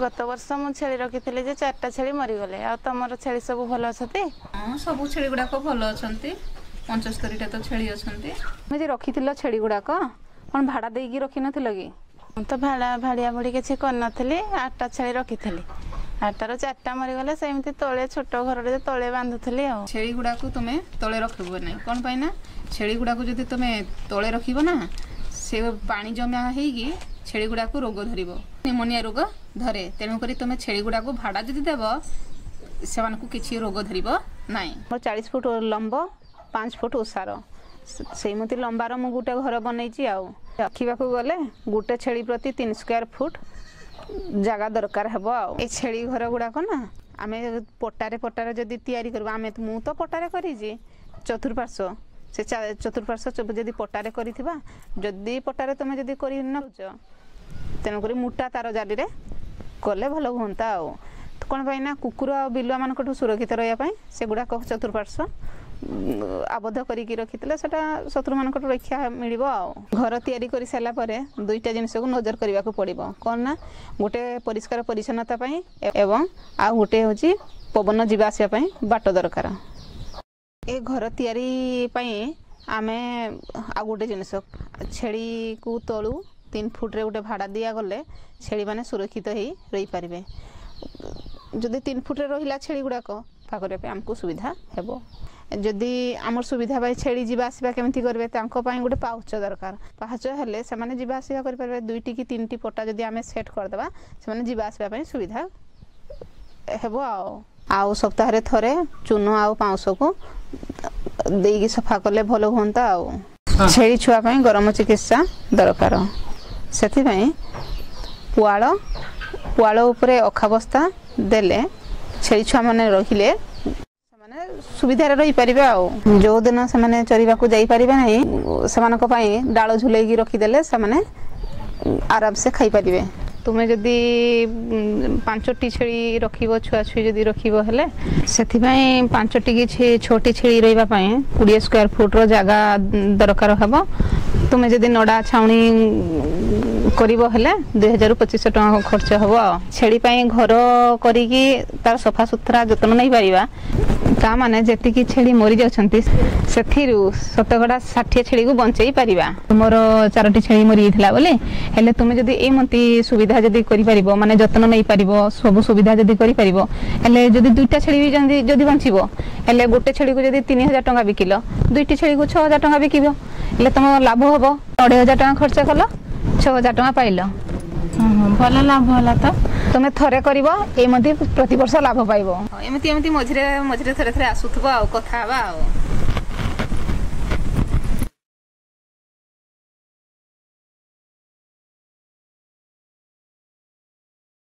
ଗତ ବର୍ଷ ମୁଁ ଛେଳି ରଖିଥିଲି ଯେ 4ଟା ଛେଳି ମରିଗଲେ। ଆଉ ତମର ଛେଳି ସବୁ ଭଲ ଅଛନ୍ତି? ହଁ, ସବୁ ଛେଳି ଗୁଡ଼ାକ ଭଲ ଅଛନ୍ତି। 75ଟା ତ ଛେଳି ଅଛନ୍ତି। ତୁମେ ଯେ ରଖିଥିଲ ଛେଳି ଗୁଡ଼ାକ କ'ଣ ଭାଡ଼ା ଦେଇକି ରଖିନଥିଲ କି? ମୁଁ ତ ଭାଡ଼ା ଭାଡ଼ିଆ ଭଡ଼ି କିଛି କରିନଥିଲି। 8ଟା ଛେଳି ରଖିଥିଲି, 8ଟାରୁ 4ଟା ମରିଗଲେ। ସେମିତି ତଳେ ଛୋଟ ଘରରେ ତଳେ ବାନ୍ଧୁଥିଲି। ଆଉ ଛେଳି ଗୁଡ଼ାକୁ ତୁମେ ତଳେ ରଖିବ ନାହିଁ। କ'ଣ ପାଇଁ ନା ଛେଳି ଗୁଡ଼ାକୁ ଯଦି ତୁମେ ତଳେ ରଖିବ ନା, ସେ ପାଣି ଜମା ହେଇକି ଛେଳି ଗୁଡ଼ାକୁ ରୋଗ ଧରିବ, ନିମୋନିଆ ରୋଗ ଧରେ। ତେଣୁକରି ତୁମେ ଛେଳି ଗୁଡ଼ାକୁ ଭାଡ଼ା ଯଦି ଦେବ, ସେମାନଙ୍କୁ କିଛି ରୋଗ ଧରିବ ନାହିଁ। ମୋର 40 ଫୁଟ ଲମ୍ବ, 5 ଫୁଟ ଓସାର, ସେଇମିତି ଲମ୍ବାର ମୁଁ ଗୋଟେ ଘର ବନେଇଛି। ଆଉ ରଖିବାକୁ ଗଲେ ଗୋଟେ ଛେଳି ପ୍ରତି 3 ସ୍କୋୟାର ଫୁଟ ଜାଗା ଦରକାର ହେବ। ଆଉ ଏ ଛେଳି ଘର ଗୁଡ଼ାକ ନା ଆମେ ପଟାରେ ପଟାରେ ଯଦି ତିଆରି କରିବୁ, ଆମେ ମୁଁ ତ ପଟାରେ କରିଛି ଚତୁର୍ପାର୍ଶ୍ୱ, ସେ ଚତୁର୍ପାର୍ଶ୍ୱ ଯଦି ପଟାରେ କରିଥିବା, ଯଦି ପଟାରେ ତୁମେ ଯଦି କରି ନେଉଛ, ତେଣୁକରି ମୋଟା ତାର ଜାଲିରେ କଲେ ଭଲ ହୁଅନ୍ତା। ଆଉ କ'ଣ ପାଇଁ ନା କୁକୁର ଆଉ ବିଲୁଆମାନଙ୍କଠୁ ସୁରକ୍ଷିତ ରହିବା ପାଇଁ ସେଗୁଡ଼ାକ ଚତୁର୍ପାର୍ଶ୍ୱ ଆବଦ୍ଧ କରିକି ରଖିଥିଲେ ସେଟା ଶତ୍ରୁମାନଙ୍କଠୁ ରକ୍ଷା ମିଳିବ। ଆଉ ଘର ତିଆରି କରିସାରିଲା ପରେ 2ଟା ଜିନିଷକୁ ନଜର କରିବାକୁ ପଡ଼ିବ। କ'ଣ ନା ଗୋଟେ ପରିଷ୍କାର ପରିଚ୍ଛନ୍ନତା ପାଇଁ ଏବଂ ଆଉ ଗୋଟେ ହେଉଛି ପବନ ଯିବା ଆସିବା ପାଇଁ ବାଟ ଦରକାର। ଏ ଘର ତିଆରି ପାଇଁ ଆମେ ଆଉ ଗୋଟେ ଜିନିଷ, ଛେଳିକୁ ତଳୁ 3 ଫୁଟରେ ଗୋଟେ ଭାଡ଼ା ଦିଆଗଲେ ଛେଳିମାନେ ସୁରକ୍ଷିତ ହେଇ ରହିପାରିବେ। ଯଦି 3 ଫୁଟରେ ରହିଲା ଛେଳି ଗୁଡ଼ାକ, ସଫା କରିବା ପାଇଁ ଆମକୁ ସୁବିଧା ହେବ। ଯଦି ଆମର ସୁବିଧା ପାଇଁ ଛେଳି ଯିବା ଆସିବା କେମିତି କରିବେ, ତାଙ୍କ ପାଇଁ ଗୋଟେ ପାହାଚ ଦରକାର। ପାହାଚ ହେଲେ ସେମାନେ ଯିବା ଆସିବା କରିପାରିବେ। 2ଟି କି 3ଟି ପଟା ଯଦି ଆମେ ସେଟ୍ କରିଦେବା, ସେମାନେ ଯିବା ଆସିବା ପାଇଁ ସୁବିଧା ହେବ। ଆଉ ସପ୍ତାହରେ ଥରେ ଚୂନ ଆଉ ପାଉଁଶକୁ ଦେଇକି ସଫା କଲେ ଭଲ ହୁଅନ୍ତା। ଆଉ ଛେଳି ଛୁଆ ପାଇଁ ଗରମ ଚିକିତ୍ସା ଦରକାର। ସେଥିପାଇଁ ପୁଆଳ ଉପରେ ଅଖା ବସ୍ତା ଦେଲେ ଛେଳି ଛୁଆମାନେ ରହିଲେ ସେମାନେ ସୁବିଧାରେ ରହିପାରିବେ। ଆଉ ଯେଉଁଦିନ ସେମାନେ ଚରିବାକୁ ଯାଇପାରିବେ ନାହିଁ, ସେମାନଙ୍କ ପାଇଁ ଡାଳ ଝୁଲେଇକି ରଖିଦେଲେ ସେମାନେ ଆରାମସେ ଖାଇପାରିବେ। ତୁମେ ଯଦି 5ଟି ଛେଳି ରଖିବ, ଛୁଆ ଛୁଇ ଯଦି ରଖିବ ହେଲେ, ସେଥିପାଇଁ 5ଟି କି 6ଟି ଛେଳି ରହିବା ପାଇଁ 20 ସ୍କୋୟାର ଫୁଟର ଜାଗା ଦରକାର ହେବ। ତୁମେ ଯଦି ନଡ଼ା ଛାଉଣି କରିବ ହେଲେ 2000ରୁ 2500 ଟଙ୍କା ଖର୍ଚ୍ଚ ହେବ। ଆଉ ଛେଳି ପାଇଁ ଘର କରିକି ତାର ସଫାସୁତୁରା ଯତ୍ନ ନେଇପାରିବା, ତା ମାନେ ଯେତିକି ଛେଳି ମରିଯାଉଛନ୍ତି ସେଥିରୁ ଶତକଡ଼ା 60 ଛେଳିକୁ ବଞ୍ଚେଇ ପାରିବା। ତୁମର 4ଟି ଛେଳି ମରିଯାଇଥିଲା ବୋଲି ହେଲେ ତୁମେ ଯଦି ଏମିତି ସୁବିଧା ଯଦି କରିପାରିବ, ମାନେ ଯତ୍ନ ନେଇପାରିବ, ସବୁ ସୁବିଧା ଯଦି କରିପାରିବ ହେଲେ, ଯଦି 2ଟା ଛେଳି ବି ଯଦି ବଞ୍ଚିବ ହେଲେ, ଗୋଟେ ଛେଳିକୁ ଯଦି 3000 ଟଙ୍କା ବିକିଲ, 2ଟି ଛେଳିକୁ 6000 ଟଙ୍କା ବିକିବ ହେଲେ ତମ ଲାଭ ହବ। 2500 ଟଙ୍କା ଖର୍ଚ୍ଚ କଲ, 6000 ଟଙ୍କା ପାଇଲ। ଭଲ ଲାଭ ହେଲା ତ। ତୁମେ ଥରେ କରିବ ଏମିତି ପ୍ରତିବର୍ଷ ଲାଭ ପାଇବ। ଏମିତି ଏମିତି ମଝିରେ ମଝିରେ ଥରେ ଥରେ ଆସୁଥିବ ଆଉ କଥା ହେବା ଆଉ।